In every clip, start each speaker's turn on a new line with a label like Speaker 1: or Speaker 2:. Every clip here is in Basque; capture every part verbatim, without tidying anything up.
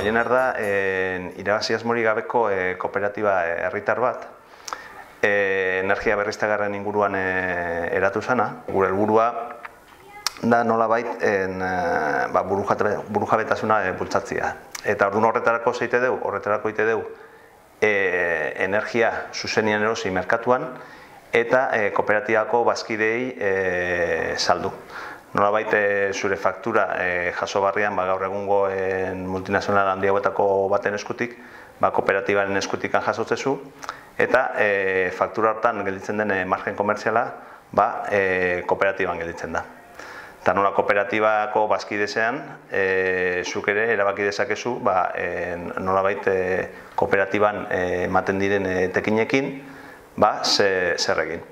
Speaker 1: Goiener da irabazi asmorik gabeko kooperatiba herritar bat, energia berriztagarrien inguruan eratu zana. Gure helburua da nolabait burujabetasuna bultzatzea. Eta orduan horretarako zeite deu, horretarako ite deu energia zuzenien erosi merkatuan eta kooperatibako bazkideei saldu. Nolabait zure faktura jaso barrian gaur egungo multinazional handi hauetako baten eskutik, kooperatibaren eskutikan jasotzezu, eta faktura hortan gelditzen den margen komertziala kooperatiban gelditzen da. Eta nola kooperatibako bazkidezean, zuk ere erabaki dezakezu nolabait kooperatiban ematen diren tekinekin zer egin.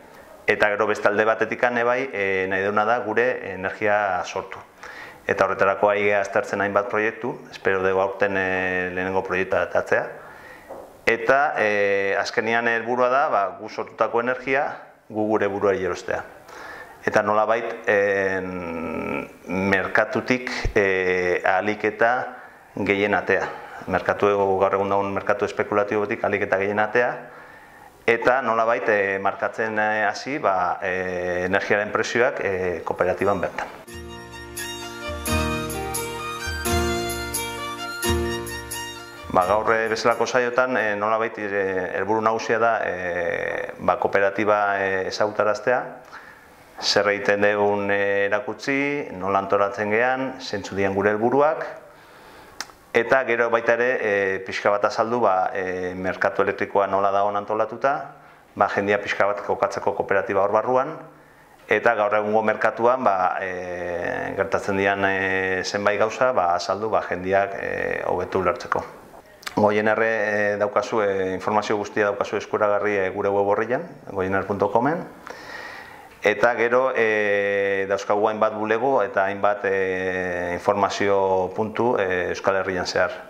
Speaker 1: Eta gero beste alde batetik bai nahi deuna da gure energia sortu. Eta horretarako ari gara aztertzen hainbat proiektu, espero dugu aurten lehenengo proiektua atatzea. Eta azkenian helburua da gu sortutako energia gu gure buruari erostea. Eta nolabait merkatutik ahalik eta gehien atea. Merkatu gaur egun dagoen merkatu espekulatibotik ahalik eta gehien atea. Eta nolabait markatzen hasi energiaren prezioak kooperatiban bertan. Gaur bezalako saiotan nolabait helburu nagusia da kooperatiba ezagutaraztea, zer egiten dugun erakutsi, nola antolatzen gean, zeintzu diren gure helburuak, eta gero baita ere pixka bat azaldu merkatu elektrikoa nola dagoen antolatuta, jendia pixka bat kokatzeko kooperatiba hor barruan, eta gaur egungo merkatuan gertatzen dian zenbait gauza azaldu jendiak hobetu ulertzeko. Goiener daukazu, informazio guztia daukazu eskuragarri gure web orrian, goiener puntu comen. Eta gero dauzkagu hainbat bulego eta hainbat informazio puntu Euskal Herrian zehar.